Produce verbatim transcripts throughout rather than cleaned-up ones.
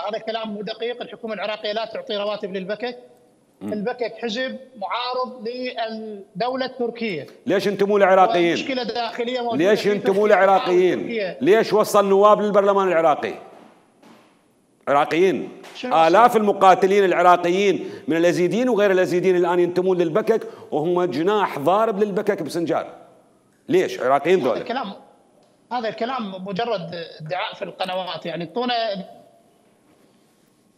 هذا كلام مو دقيق. الحكومه العراقيه لا تعطي رواتب للبكك. البكك حزب معارض للدوله التركيه. ليش انتم مو العراقيين؟ مشكله داخليه موجوده. ليش انتم مو العراقيين؟ ليش وصل نواب للبرلمان العراقي؟ عراقيين. آلاف المقاتلين العراقيين من الازيديين وغير الازيديين الان ينتمون للبكك وهم جناح ضارب للبكك بسنجار. ليش؟ عراقيين ذولا. هذا الكلام هذا الكلام مجرد ادعاء في القنوات، يعني اعطونا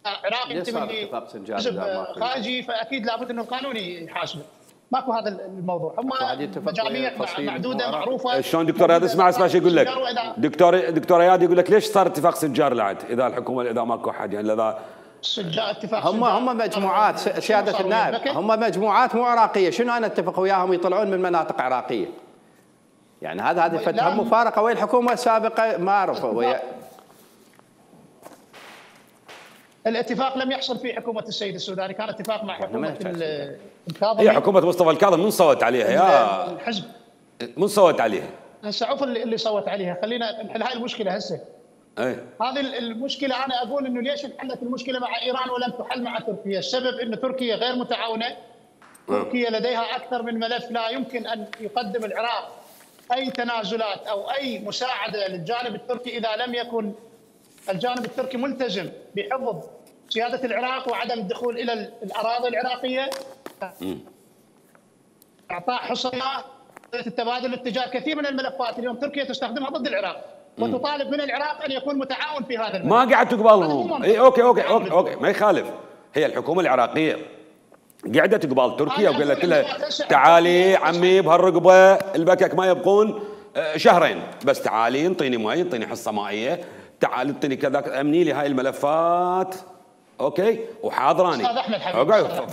عراقي ينتمي لحزب خارجي فاكيد لابد انه القانون يحاسبه. ماكو هذا الموضوع، هم مجاميع معدوده معروفه. شلون دكتور اياد؟ اسمع اسمع شو يقول لك دكتور دكتور اياد يقول لك ليش صار اتفاق سنجار لعد اذا الحكومه اذا ماكو حد يعني اذا اتفاق هم هم مجموعات سياده النائب، هم مجموعات مو عراقيه، شنو انا اتفق وياهم يطلعون من مناطق عراقيه؟ يعني هذا هذه فتهم مفارقه ويا الحكومه السابقه ما اعرفه ويا الاتفاق لم يحصل في حكومه السيد السوداني، كان اتفاق مع حكومه الكاظمي. هي حكومه مصطفى الكاظم من صوت عليها يا الحزب؟ من صوت عليها؟ هسه عوف اللي, اللي صوت عليها، خلينا نحل هاي المشكله هسه. اي هذه المشكله انا اقول انه ليش انحلت المشكله مع ايران ولم تحل مع تركيا؟ السبب انه تركيا غير متعاونه. تركيا لديها اكثر من ملف، لا يمكن ان يقدم العراق اي تنازلات او اي مساعده للجانب التركي اذا لم يكن الجانب التركي ملتزم بحفظ سياده العراق وعدم الدخول الى الاراضي العراقيه. اعطاء حصانات التبادل التجاري، كثير من الملفات اليوم تركيا تستخدمها ضد العراق وتطالب من العراق ان يكون متعاون في هذا الملف. ما قاعد تقبلهم. اي اوكي اوكي اوكي اوكي ما يخالف. هي الحكومه العراقيه قاعده تقبل تركيا وقالت لها تعالي عمي بهالرقبه البكك ما يبقون شهرين بس، تعالي انطيني مي، انطيني حصه مائيه، تعالي انطيني كذا، امني لي هاي الملفات. اوكي وحاضراني. استاذ احمد حبيبي